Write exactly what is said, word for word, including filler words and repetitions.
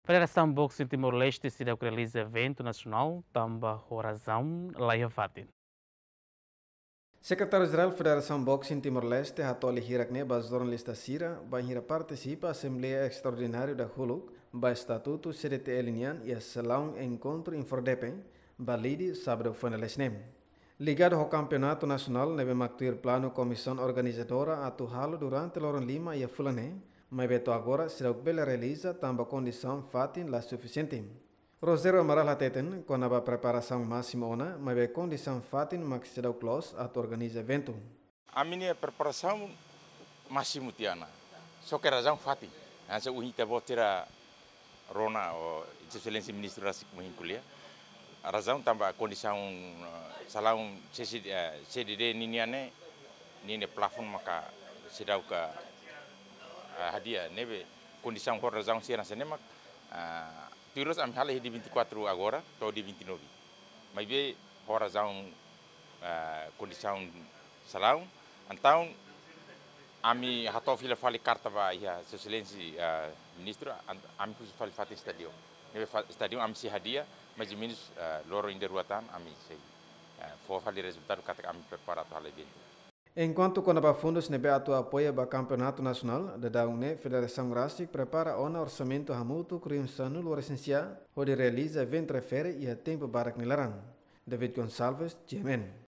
Federasaun Boxing Timor-Leste seidauk realiza eventu nasionál tanba ho razaun laiha fatin. Sekretáriu Jerál Federasaun Boxing Timor-Leste hato'o lia hirak ne'e ba jornalista sira bainhira partisipa asembleia estraordinária dahuluk ba estatutu C D T L nian iha salaun enkontru Infordepe, Balide, sábadu foin dadauk ne'e. Ligadu ho kampeonatu nasionál ne'ebé mak tuir planu komisaun organizadora atu halo durante loron lima iha fulan ne'e, maibé to'o agora seidauk bele realiza tanba kondisaun fatin la sufisiente. Rogério Amaral hateten kona-ba preparasaun másimu ona, maibé kondisaun fatin mak seidauk loos atu organiza eventu. Ami-nia preparasaun másimu tiha ona. Só ke razaun fatin. Hanesan ohin ita-boot sira rona, ou Exelénsia Ministru rasik ohin ko'alia. Razaun tanba kondisaun, eh, salaun C C, eh, C D D ninian ne'e, ninia plafon maka seidauk, eh, hadi'a ne'ebé kondisaun ho razaun sira hanesan ne'e mak, eh, tuir loos ami hala'o iha dia vinte e quatro agora, to'o dia vinte e nove. Maibé ho razaun, eh, kondisaun salaun, entaun ami hato'o fila fali karta ba iha Sua Exelénsia, eh, Ministru, an-, ami husu fali fatin estádiu. Ne'ebé fa-, estádiu ami sei hadi'a, mais ou menus, eh, loron ida rua tan ami sei, eh, fó fali rezultadu katak ami prepara atu hala'o eventu. Enkuantu kona-ba fundus ne'ebé atu apoia ba kampeonatu nasionál, daudaun ne'e federasaun rasik prepara ona orsamentu hamutuk rihun sanulu-resin-sia, hodi realiza eventu refere iha tempu badak nia laran. David Gonçalves, G M N.